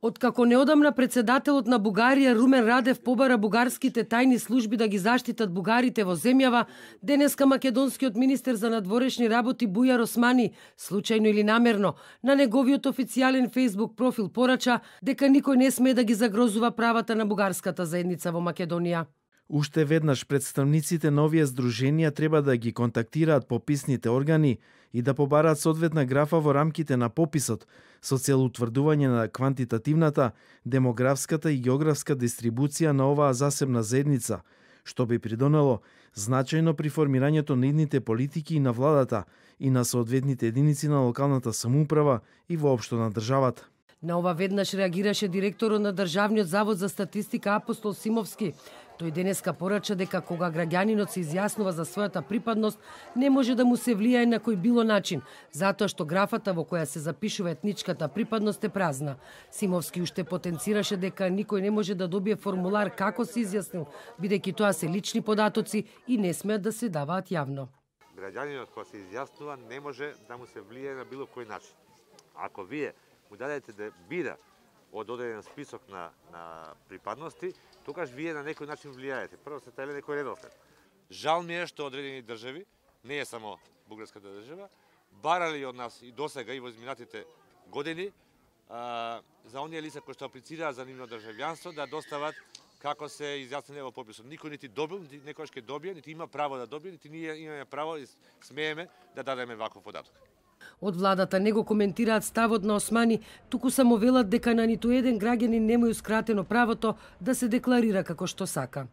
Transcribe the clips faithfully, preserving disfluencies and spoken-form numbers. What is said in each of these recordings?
Откако неодамна председателот на Бугарија Румен Радев побара бугарските тајни служби да ги заштитат бугарите во земјава, денеска македонскиот министер за надворешни работи Бујар Османи, случајно или намерно, на неговиот официјален Facebook профил порача дека никој не смее да ги загрозува правата на бугарската заедница во Македонија. Уште веднаш представниците на овие здруженија треба да ги контактираат пописните органи и да побараат соодветна графа во рамките на пописот со цел утврдување на квантитативната, демографската и географска дистрибуција на оваа засебна заедница, што би придонело значајно при формирањето на идните политики и на владата и на соодветните единици на локалната самоуправа и воопшто на државата. На ова веднаш реагираше директорот на Државниот завод за статистика Апостол Симовски. Тој денеска порача дека кога граѓанинот се изјаснува за својата припадност, не може да му се влијае на кој било начин, затоа што графата во која се запишува етничката припадност е празна. Симовски уште потенцираше дека никој не може да добие формулар како се изјаснил, бидејќи тоа се лични податоци и не смеат да се даваат јавно. Граѓанинот кога се изјаснува не може да му се влијае на било кој начин. Ако вие му дадете да бира од одреден список на, на припадности, тогаш вие на некој начин влијаете. Прво се тајле некој редослед. Жал ми е што одредени држави, не е само бугарската држава, барали од нас и досега и во изминатите години а, за оние лица кои што аплицираат за нивно државјанство да достават како се изјасниле во пописот. Никој нити добил, нити некојаш ќе добие, нити има право да добие, нити ние имаме право и смееме да дадеме ваков податок. Од владата не го коментираат ставот на Османи, туку само велат дека на ниту еден граѓанин нема ускратено правото да се декларира како што сака.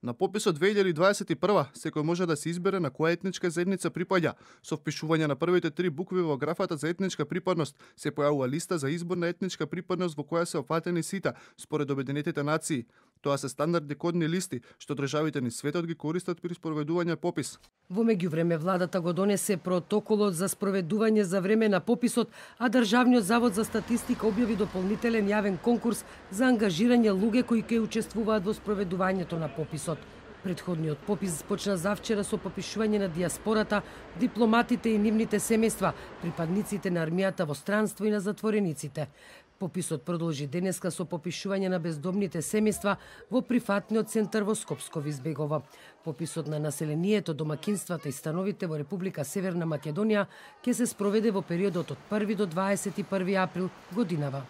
На пописот две илјади дваесет и прва секој може да се избере на која етничка заедница припаѓа. Со впишување на првите три букви во графата за етничка припадност се појавува листа за избор на етничка припадност во која се опфатени сите според Обединетите нации. Тоа се стандардни кодни листи што државите низ светот ги користат при спроведување попис. Во меѓувреме владата го донесе протоколот за спроведување за време на пописот, а Државниот завод за статистика објави дополнителен јавен конкурс за ангажирање луѓе кои ќе учествуваат во спроведувањето на пописот. Претходниот попис почна завчера со попишување на диаспората, дипломатите и нивните семејства, припадниците на армијата во странство и на затворениците. Пописот продолжи денеска со попишување на бездомните семејства во прифатниот центар во Скопско Визбегово. Пописот на населението, домакинствата и становите во Република Северна Македонија ќе се спроведе во периодот од први до дваесет и први април годинава.